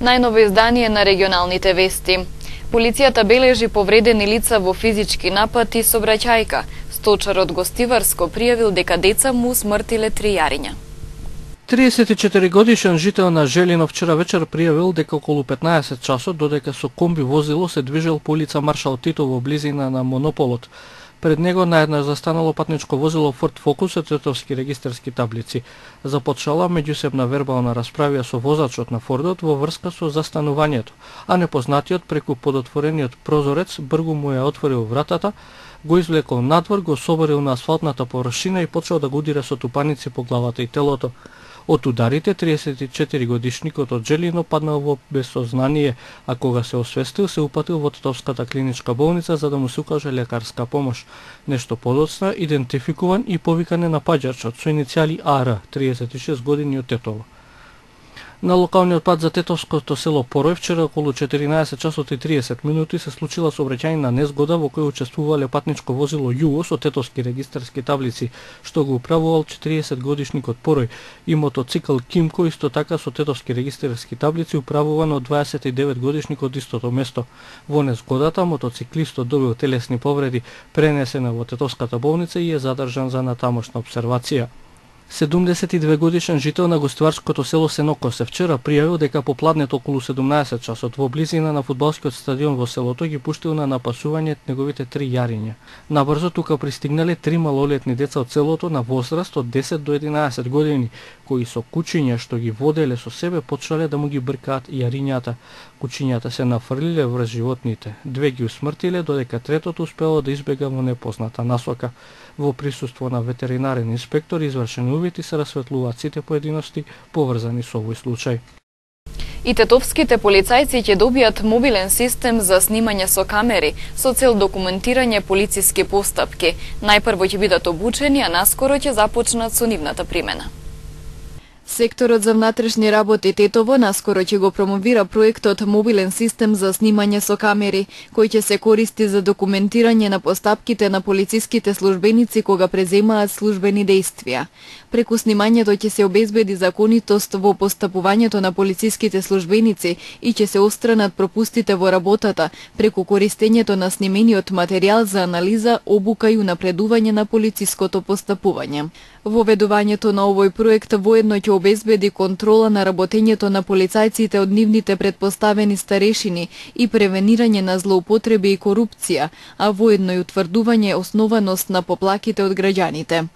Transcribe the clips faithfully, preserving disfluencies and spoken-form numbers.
Најново издание на регионалните вести. Полицијата бележи повредени лица во физички напад и сообраќајка. Сточар од Гостиварско пријавил дека деца му смртиле три јариња. триесет и четири годишен жител на Желино вчера вечер пријавил дека околу петнаесет часот додека со комби возило се движел по улица Маршал Тито во близина на Монополот. Пред него наеднаш застанало патничко возило Форд Фокус со тетовски регистарски таблици. Започнала меѓусебна вербална расправија со возачот на Фордот во врска со застанувањето, а непознатиот преку подотворениот прозорец бргу му ја отворил вратата, го извлекол надвор, го соборил на асфалтната површина и почел да го удира со тупаници по главата и телото. Од ударите триесет и четири годишникот од Желино паднал во безсознание, а кога се освестил се упатил во Тетовската клиничка болница за да му се укаже лекарска помош. Нешто подоцна идентификуван и повикан е напаѓачот со иницијали А Р, триесет и шест години од Тетово. На локалниот пат за тетовското село Порој вчера околу четиринаесет часот и триесет минути се случила сообраќајна незгода во која учествувале патничко возило Југо со тетовски регистарски таблици, што го управувал четириесет годишникот Порој, и мотоцикл Кимко исто така со тетовски регистарски таблици управуван од дваесет и девет годишникот истото место. Во незгодата мотоциклистот добил телесни повреди, пренесен во тетовската болница и е задржан за натамошна обсервација. седумдесет и две годишен жител на гостиварското село Сенокосе вчера пријавил дека попладнет околу седумнаесет часот во близина на фудбалскиот стадион во селото ги пуштил на напасување неговите три јариња. Набрзо тука пристигнале три малолетни деца од селото на возраст од десет до единаесет години, кои со кучиња што ги воделе со себе почнале да му ги бркаат јарињата. Кучињата се нафрлиле врз животните. Две ги усмртиле, додека третото успело да избега во непозната насока. Во присуство на ветеринарен инспектор извршени увити се расветлуваат сите поединости поврзани со овој случај. И тетовските полицајци ќе добијат мобилен систем за снимање со камери со цел документирање полициски постапки. Најпрво ќе бидат обучени, а наскоро ќе започнат со нивната примена. Секторот за внатрешни работи Тетово наскоро ќе го промовира проектот Мобилен систем за снимање со камери, кој ќе се користи за документирање на постапките на полициските службеници кога преземаат службени дејствија. Преку снимањето ќе се обезбеди законитост во постапувањето на полициските службеници и ќе се отстранат пропустите во работата преку користењето на снимениот материјал за анализа, обука и унапредување на полициското постапување. Воведувањето на овој проект воедно ќе обезбеди контрола на работењето на полицајците од нивните предпоставени старешини и превенирање на злоупотреби и корупција, а воедно и утврдување основаност на поплаките од граѓаните.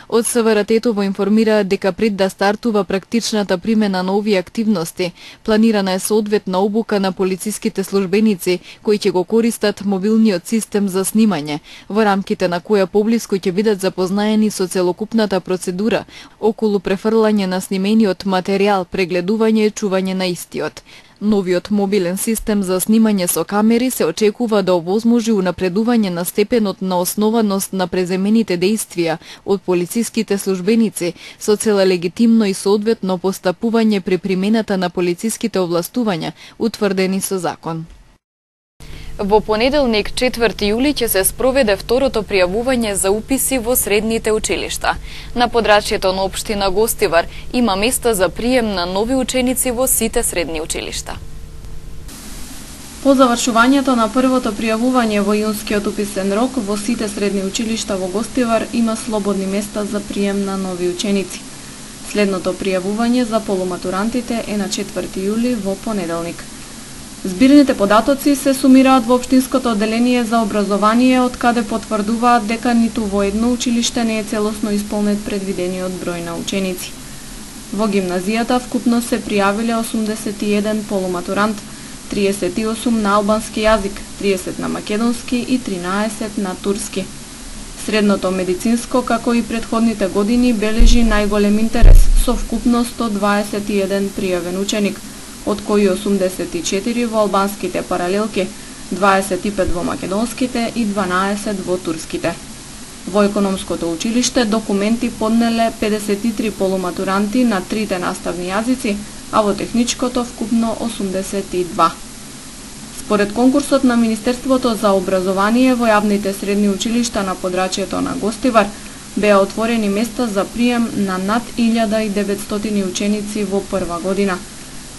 Од С В Р Тетово информираат дека пред да стартува практичната примена на овие активности, планирана е соодветна обука на полициските службеници кои ќе го користат мобилниот систем за снимање, во рамките на која поблиску ќе бидат запознаени со целокупната процедура околу префрлање на снимениот материјал, прегледување и чување на истиот. Новиот мобилен систем за снимање со камери се очекува да овозможи унапредување на степенот на основаност на преземените дејствија од полициските службеници со цел легитимно и соодветно постапување при примената на полициските овластувања утврдени со закон. Во понеделник, четврти јули, ќе се спроведе второто пријавување за уписи во средните училишта. На подрачјето на општина Гостивар има места за прием на нови ученици во сите средни училишта. По завршувањето на првото пријавување во јунскиот уписен рок во сите средни училишта во Гостивар има слободни места за прием на нови ученици. Следното пријавување за полуматурантите е на четврти јули во понеделник. Збирните податоци се сумираат во општинското одделение за образование, од каде потврдуваат дека ниту во едно училиште не е целосно исполнет предвидениот број на ученици. Во гимназијата вкупно се пријавиле осумдесет и еден полуматурант, триесет и осум на албански јазик, триесет на македонски и тринаесет на турски. Средното медицинско, како и претходните години, бележи најголем интерес со вкупно сто дваесет и еден пријавен ученик, од кои осумдесет и четири во албанските паралелки, дваесет и пет во македонските и дванаесет во турските. Во економското училиште документи поднеле педесет и три полуматуранти на трите наставни јазици, а во техничкото вкупно осумдесет и два. Според конкурсот на Министерството за образование во јавните средни училишта на подрачјето на Гостивар, беа отворени места за прием на над илјада и деветстотини ученици во прва година.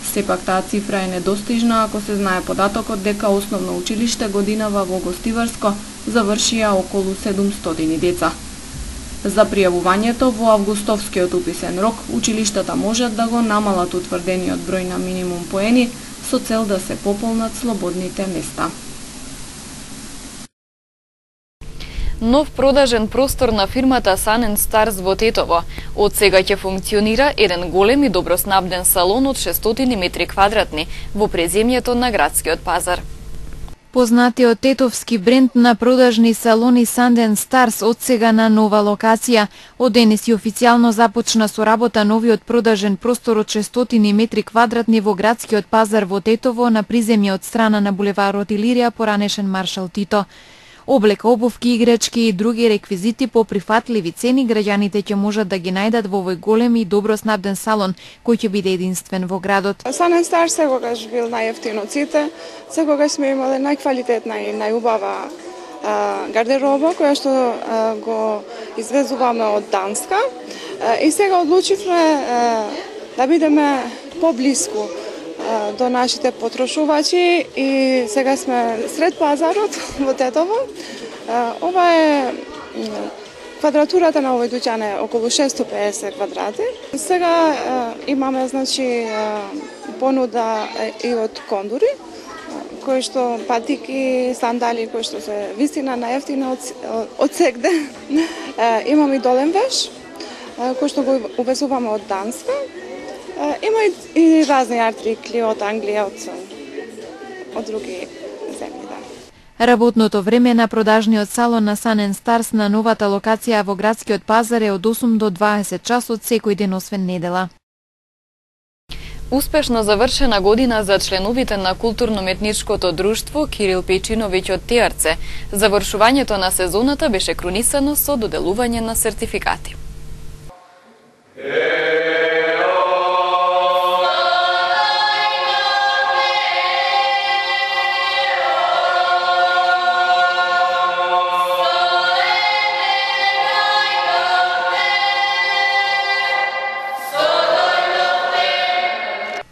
Сепак таа цифра е недостижна ако се знае податокот дека основно училиште годинава во Гостиварско завршија околу седумстотини деца. За пријавувањето во августовскиот уписен рок, училиштата можат да го намалат утврдениот број на минимум поени со цел да се пополнат слободните места. Нов продажен простор на фирмата Sun and Stars во Тетово. Од сега ќе функционира еден голем и доброснабден салон од шестстотини метри квадратни во преземјето на градскиот пазар. Познатиот тетовски бренд на продажни салони Sun and Stars од сега на нова локација. Од денес и официјално започна со работа новиот продажен простор од шестстотини метри квадратни во градскиот пазар во Тетово на приземје од страна на булеварот Илирија, поранешен Маршал Тито. Облека, обувки, играчки и други реквизити по прифатливи цени граѓаните ќе можат да ги најдат во овој голем и добро снабден салон кој ќе биде единствен во градот. Sun and Stars секогаш бил најевтин од сите, секогаш сме имале најквалитетна и најубава гардероба која што а, го извезуваме од Данска а, и сега одлучивме а, да бидеме поблиску до нашите потрошувачи и сега сме сред пазарот во Тетово. Ова е квадратурата на овој дуќан е околу шестстотини и педесет квадрати. Сега имаме значи понуда и од кондури, кои што патики, сандали кои што се вистина најевтина од, од сегде. Имаме и долен веш кој што го увезуваме од Данска. Има и, и разни артрикли од Англија, од, од други земји, да. Работното време на продажниот салон на Sun and Stars на новата локација во градскиот пазар е од осум до дваесет часот секој ден освен недела. Успешно завршена година за членовите на културно-уметничкото друштво Кирил Пејчиновиќ од Тиарце. Завршувањето на сезоната беше крунисано со доделување на сертификати.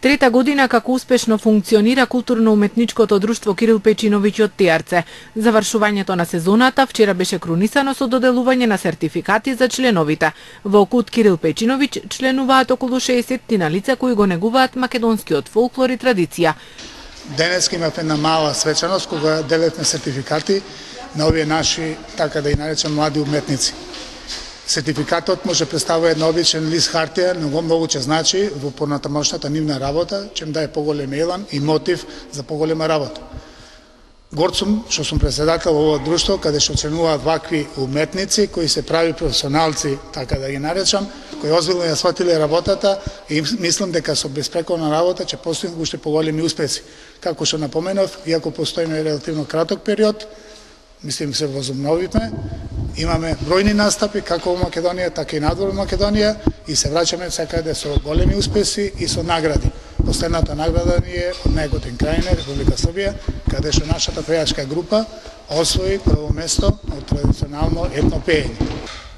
Трета година како успешно функционира културно-уметничкото друштво Кирил Пејчиновиќ од Тиарце. Завршувањето на сезоната вчера беше крунисано со доделување на сертификати за членовите. Во Кут Кирил Пејчиновиќ членуваат околу шеесет на лица кои го негуваат македонскиот фолклор и традиција. Денес имавме една мала свечаност кога делевме сертификати на овие наши, така да и наречем, млади уметници. Сертификатот може представува една обичен лист хартија, но многу ќе значи во понатамошната нивна работа, ќе им даде поголем елан и мотив за поголема работа. Горд сум што сум председател во ова друштво, каде што членуваат вакви уметници кои се прави професионалци, така да ги наречам, кои озбилно ја сватиле работата и мислам дека со безпрекорна работа ќе постигнат уште поголеми успеси. Како што напоменав, иако постоиме релативно краток период, мислим се возобновивме, имаме бројни настапи како во Македонија, така и надвор во Македонија и се враќаме секаде со големи успеси и со награди. Последната награда ни е од Неготин крајна, Република Србија, каде што нашата пејачка група освои прво место од традиционално етно пеење.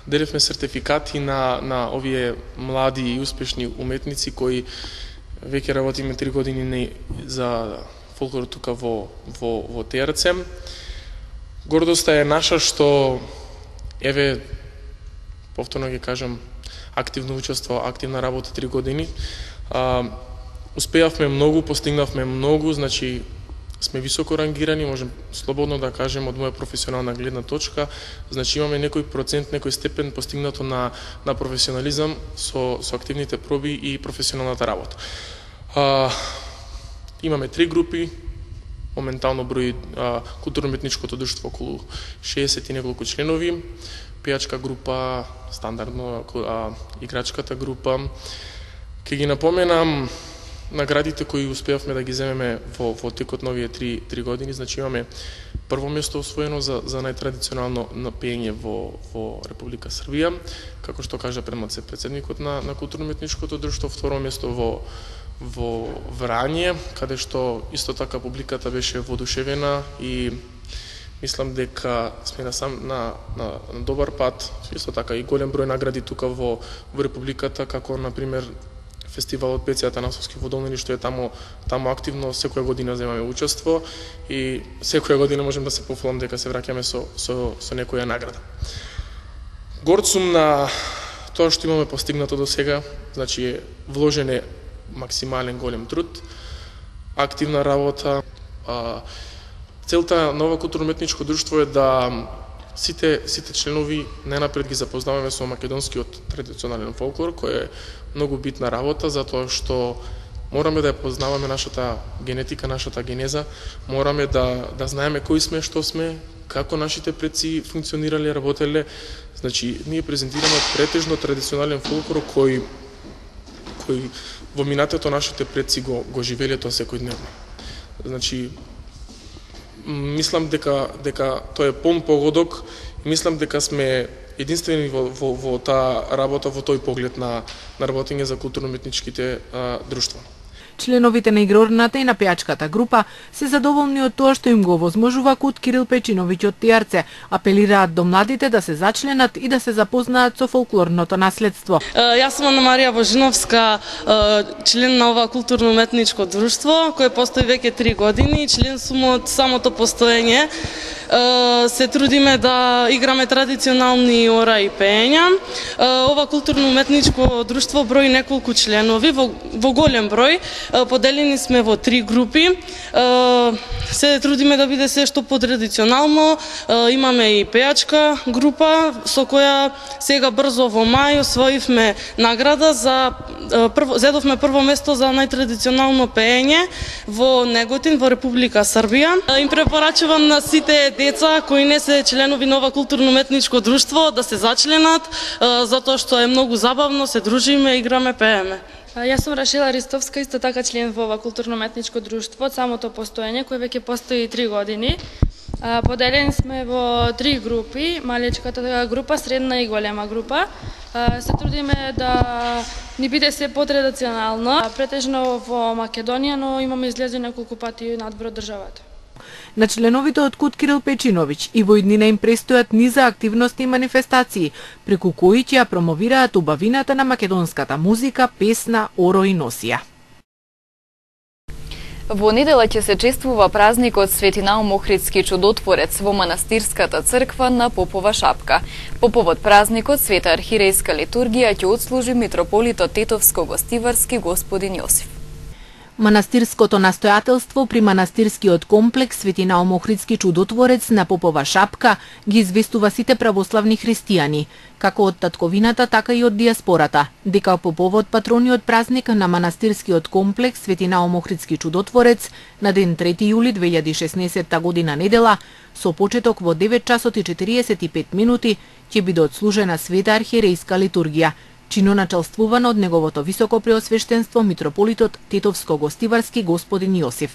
Делевме сертификати на, на овие млади и успешни уметници кои веќе работиме три години за фолклор тука во, во, во Тиарце. Гордоста е наша што, еве, повторно ги кажам, активно учество, активна работа три години. А, успеавме многу, постигнавме многу, значи сме високо рангирани, можем слободно да кажем од моја професионална гледна точка, значи имаме некој процент, некој степен постигнато на, на професионализам со, со активните проби и професионалната работа. А, имаме три групи, моментално брои културно-уметничкото друштво околу шеесет и неколку членови, пејачка група, стандардно а, играчката група. Ке ги напоменам наградите кои успеавме да ги земеме во, во текот на овие три, три години. Значи имаме прво место освоено за, за најтрадиционално пеење во, во Република Србија, како што кажа предмоце председникот на, на културно-уметничкото друштво, второ место во во Врање, каде што исто така публиката беше воодушевена и мислам дека сме на сам на, на, на добар пат. Исто така и голем број награди тука во, во Републиката, како на пример фестивалот Пеци Атанасовски во Долнини, што е таму таму активно секоја година земаме учество и секоја година можем да се пофалам дека се враќаме со со со некоја награда. Горд сум на тоа што имаме постигнато до сега, значи вложен е максимален голем труд, активна работа. Целта на ова културно-уметничко друштво е да сите сите членови најнапред ги запознаваме со македонскиот традиционален фолклор, кој е многу битна работа, затоа што мораме да ја познаваме нашата генетика, нашата генеза, мораме да да знаеме кои сме, што сме, како нашите предци функционирале, работеле. Значи, ние презентираме претежно традиционален фолклор кој кој во минатото нашите предци го го живееле тоа секојдневно. Значи, мислам дека дека тоа е пон погодок, мислам дека сме единствени во во, во таа работа, во тој поглед на на работење за културно-уметничките друштва. Членовите на игрорната и на пејачката група се задоволни од тоа што им го овозможува Кут Кирил Печиновиќ од Тијарце, апелираат до младите да се зачленат и да се запознаат со фолклорното наследство. Јас сум Ана Марија Божиновска, член на ова културно-уметничко друштво, кој постои веќе три години. Член сум од самото постоење. Се трудиме да играме традиционални ора и пеења. Ова културно-уметничко друштво брои неколку членови, во, во голем број. Поделени сме во три групи. Се трудиме да биде се што потрадиционално. Имаме и пејачка група со која сега брзо во мај освоивме награда за прво, зедовме прво место за најтрадиционално пеење во Неготин, во Република Србија. Им препорачувам на сите деца кои не се членови на ова културно-уметничко друштво да се зачленат, затоа што е многу забавно, се дружиме, играме, пееме. Јас сум Рашила Ристовска, исто така член во ова културно-уметничко друштво од самото постоење, кој веќе постои три години. Поделени сме во три групи, малечката група, средна и голема група. Се трудиме да ни биде се потрадиционално, претежно во Македонија, но имаме излезе неколку пати надвор од државата. На членовите од Кут Кирил Печиновиќ и во иднина им престојат низа активности и манифестации, преку кои ќе ја промовираат убавината на македонската музика, песна, оро и носија. Во недела ќе се чествува празникот Свети Наум Охридски чудотворец во манастирската црква на Попова шапка. По повод празникот Света архиерејска литургија ќе отслужи митрополитот Тетовско-Гостиварски господин Јосиф. Манастирското настојателство при манастирскиот комплекс Свети Наум Охридски чудотворец на Попова шапка ги известува сите православни христијани, како од татковината, така и од диаспората, дека по повод патрониот празник на манастирскиот комплекс Свети Наум Охридски чудотворец на ден трети јули две илјади и шеснаесетта година недела, со почеток во девет часот и четириесет и пет минути, ќе биде отслужена света архиерејска литургија, чиноначалствувана од неговото високо преосвештенство митрополитот Тетовско-Гостиварски господин Јосиф.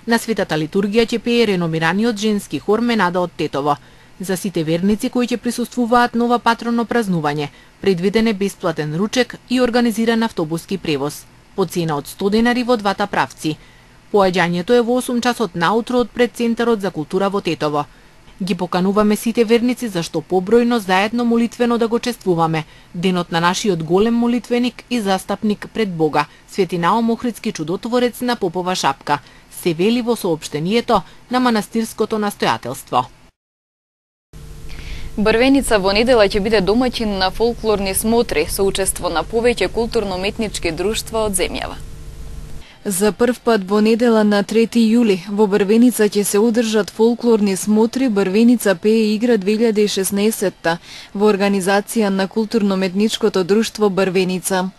На светата литургија ќе пее реномираниот женски хор Менада од Тетово. За сите верници кои ќе присуствуваат на ова патронно празнување, предвиден е бесплатен ручек и организиран автобуски превоз, по цена од сто денари во двата правци. Поаѓањето е во осум часот наутро од пред Центарот за култура во Тетово. Ги покануваме сите верници зашто побројно заедно молитвено да го чествуваме денот на нашиот голем молитвеник и застапник пред Бога, Свети Наум Охридски чудотворец на Попова шапка, се вели во соопштението на манастирското настојателство. Брвеница во недела ќе биде домаќин на фолклорни смотри со учество на повеќе културно-уметнички друштва од земјава. За прв пат во недела на трети јули во Брвеница ќе се одржат фолклорни смотри Брвеница пее игра две илјади и шеснаесетта во организација на културно-уметничкото друштво Брвеница.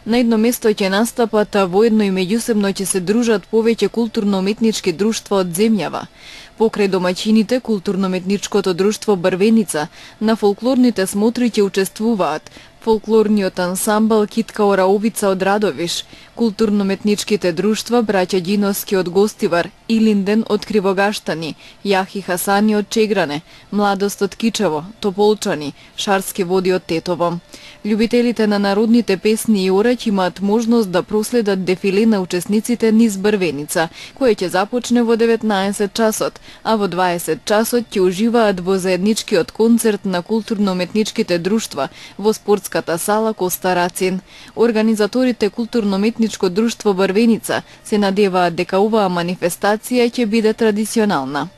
На едно место ќе настапат, а воедно и меѓусебно ќе се дружат повеќе културно-уметнички друштва од земјава. Покрај домаќините културно-уметничкото друштво Брвеница на фолклорните смотри ќе учествуваат фолклорниот ансамбл Китка Ораовица од Радовиш, културно-уметничките друштва Браќа Ѓиновски од Гостивар, Илинден од Кривогаштани, Јахи Хасани од Чегране, Младост од Кичево, Тополчани, Шарски води од Тетово. Љубителите на народните песни и ораќ имаат можност да проследат дефиле на учесниците низ Брвеница, кој ќе започне во деветнаесет часот, а во дваесет часот ќе уживаат во заедничкиот концерт на културно-уметничките друштва во спортска детската сала Коста Рацин. Организаторите Културно-метничко друштво Брвеница се надеваат дека оваа манифестација ќе биде традиционална.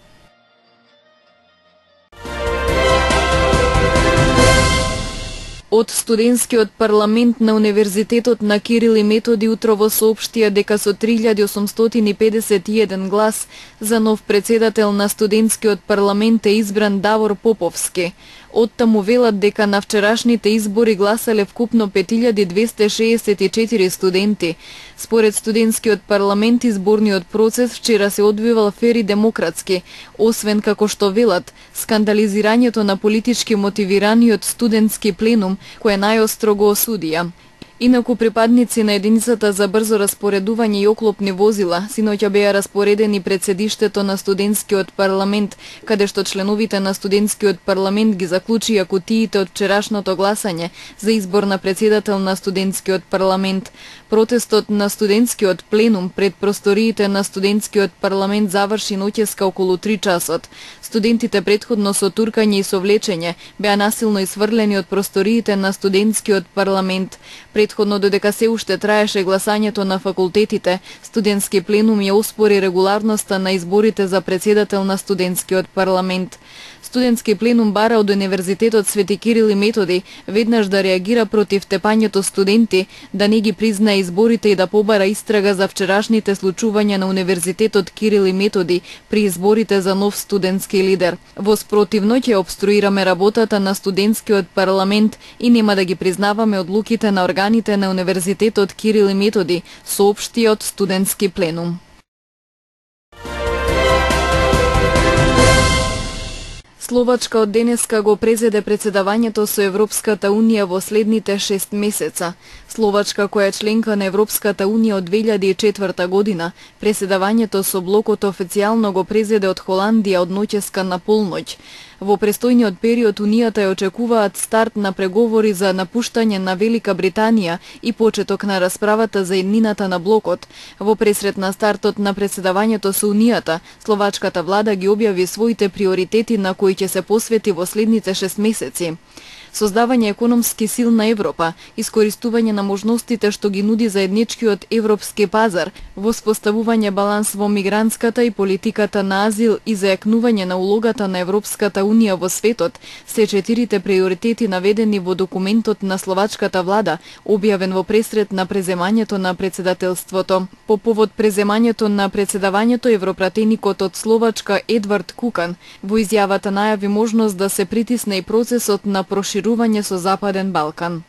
Од студентскиот парламент на Универзитетот на Кирил и Методи утрово соопштија дека со три илјади осумстотини педесет и еден глас за нов председател на студентскиот парламент е избран Давор Поповски. Оттаму велат дека на вчерашните избори гласале вкупно пет илјади двесте шеесет и четири студенти. Според студентскиот парламент изборниот процес вчера се одвивал фер и демократски, освен како што велат, скандализирањето на политички мотивираниот студентски пленум, кој најостро го осудија. Инаку припадници на единицата за брзо распоредување и оклопни возила синоќа беа распоредени пред седиштето на студентскиот парламент, каде што членовите на студентскиот парламент ги заклучија кутиите од вчерашното гласање за избор на председател на студентскиот парламент. Протестот на студентскиот пленум пред просториите на студентскиот парламент заврши ноќеска околу три часот. Студентите претходно со туркање и совлечење беа насилно исфрлени од просториите на студентскиот парламент. Предходно, додека се уште траеше гласањето на факултетите, студентски пленум ја оспори регуларноста на изборите за председател на студентскиот парламент. Студентски пленум бара од Универзитетот Свети Кирил и Методи веднаш да реагира против тепањето студенти, да не ги признае изборите и да побара истрага за вчерашните случувања на Универзитетот Кирил и Методи при изборите за нов студентски лидер. Во спротивно ќе обструираме работата на студентскиот парламент и нема да ги признаваме одлуките на органите на Универзитетот Кирил и Методи, соопшти од студентски пленум. Словачка од денеска го презеде председавањето со Европската Унија во следните шест месеца. Словачка, која е членка на Европската Унија од две илјади и четврта година, преседавањето со блокот официјално го презеде од Холандија од ноќеска на полноќ. Во престојниот период Унијата ја очекуваат старт на преговори за напуштање на Велика Британија и почеток на расправата за иднината на блокот. Во пресрет на стартот на преседавањето со Унијата, словачката влада ги објави своите приоритети на кои ќе се посвети во следните шест месеци. Создавање економски силна Европа, искористување на можностите што ги нуди заедничкиот европски пазар, воспоставување баланс во мигрантската и политиката на азил и зајакнување на улогата на Европската Унија во светот, се четирите приоритети наведени во документот на словачката влада, објавен во пресрет на преземањето на председателството. По повод преземањето на председавањето, европратеникот од Словачка Едвард Кукан во изјавата најави можност да се притисне и процесот на проширување со Западен Балкан.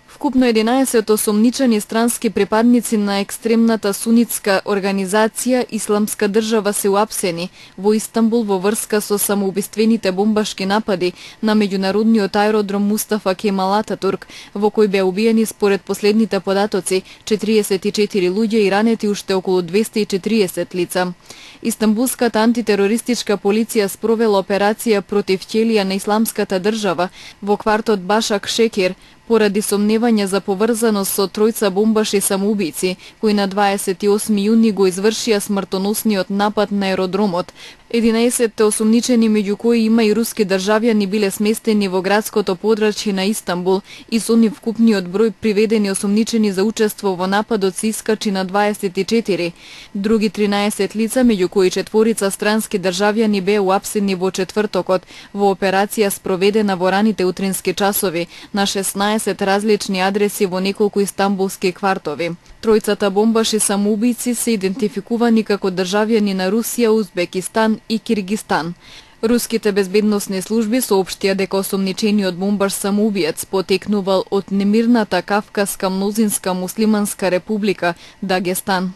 Вкупно единаесет осомничени странски припадници на екстремната сунитска организација Исламска држава се уапсени во Истанбул во врска со самоубиствените бомбашки напади на меѓународниот аеродром Мустафа Кемал Ататурк, во кој беа убиени според последните податоци четириесет и четири луѓе и ранети уште околу двесте и четириесет лица. Истанбулската антитерористичка полиција спровела операција против ќелија на Исламската држава во квартот Башак Шекер, поради сомневање за поврзаност со тројца бомбаши самоубици, кои на дваесет и осми јуни го извршија смртоносниот напад на аеродромот. единаесетте осумничени, меѓу кои има и руски државјани, биле сместени во градското подрачје на Истанбул и со нив вкупниот број приведени осумничени за учество во нападот се искачи на дваесет и четири. Други тринаесет лица, меѓу кои четворица странски државјани, беа уапсени во четвртокот во операција спроведена во раните утрински часови на шеснаесет различни адреси во неколку истанбулски квартови. Тројцата бомбаши самоубици се идентификувани како државјани на Русија, Узбекистан и Киргистан. Руските безбедносни служби соопштија дека осомничениот бомбаш самоубиец потекнувал од немирната Кавказска мнозинска муслиманска република Дагестан.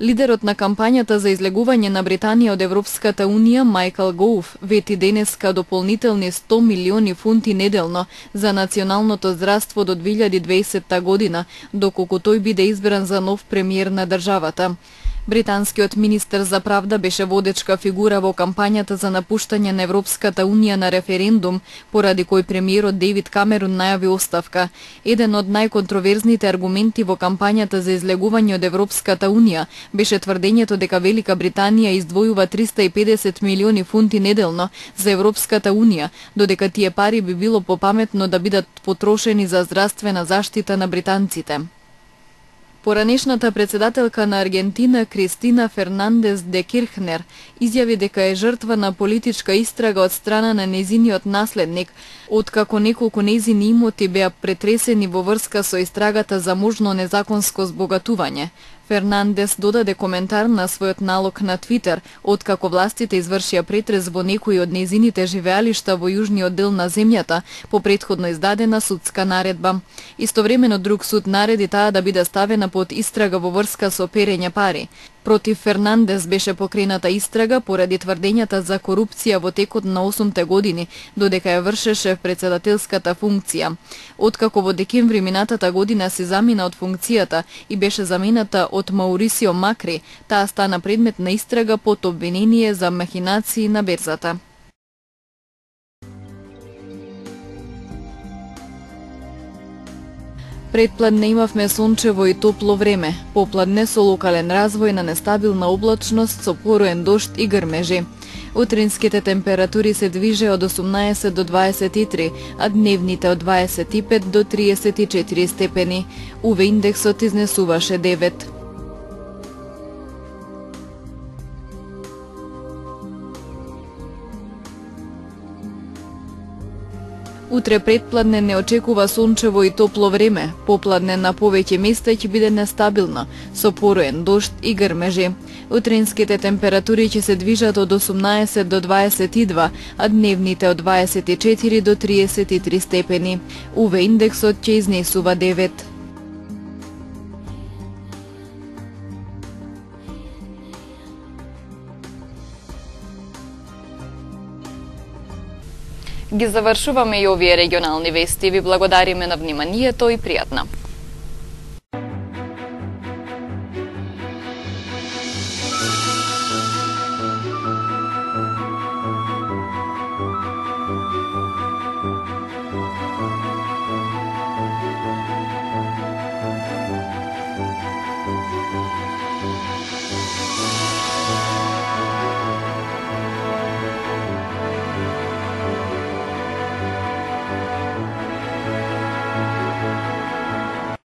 Лидерот на кампањата за излегување на Британија од Европската Унија, Майкл Гоуф, вети денеска дополнителни сто милиони фунти неделно за националното здравство до две илјади дваесетта година, доколку тој биде избран за нов премиер на државата. Британскиот министер за правда беше водечка фигура во кампањата за напуштање на Европската унија на референдум, поради кој премиерот Дейвид Камерун најави оставка. Еден од најконтроверзните аргументи во кампањата за излегување од Европската унија беше тврдењето дека Велика Британија издвојува триста и педесет милиони фунти неделно за Европската унија, додека тие пари би било попаметно да бидат потрошени за здравствена заштита на британците. Поранешната председателка на Аргентина Кристина Фернандес де Кирхнер изјави дека е жртва на политичка истрага од страна на незиниот наследник, откако неколку незини имоти беа претресени во врска со истрагата за можно незаконско збогатување. Фернандес додаде коментар на својот налог на Твитер, откако властите извршија претрес во некои од незините живеалишта во јужниот дел на земјата по претходно издадена судска наредба. Истовремено друг суд нареди таа да биде ставена под истрага во врска со перење пари. Против Фернандес беше покрената истрага поради тврдењата за корупција во текот на осумте години, додека ја вршеше председателската функција. Откако во декември минатата година се замина од функцијата и беше замената од Маурисио Макри, таа стана предмет на истрага под обвинение за махинации на берзата. Предпладне имавме сончево и топло време, попладне со локален развој на нестабилна облачност со пороен дожд и грмежи. Утринските температури се движе од осумнаесет до дваесет и три, а дневните од дваесет и пет до триесет и четири степени. УВ индексот изнесуваше девет. Утре предпладне не очекува сончево и топло време, попладне на повеќе места ќе биде нестабилно, со пороен дожд и грмежи. Утринските температури ќе се движат од осумнаесет до дваесет и два, а дневните од дваесет и четири до триесет и три степени. УВ индексот ќе изнесува девет. Ги завршуваме и овие регионални вести. Ви благодариме на вниманието и пријатно.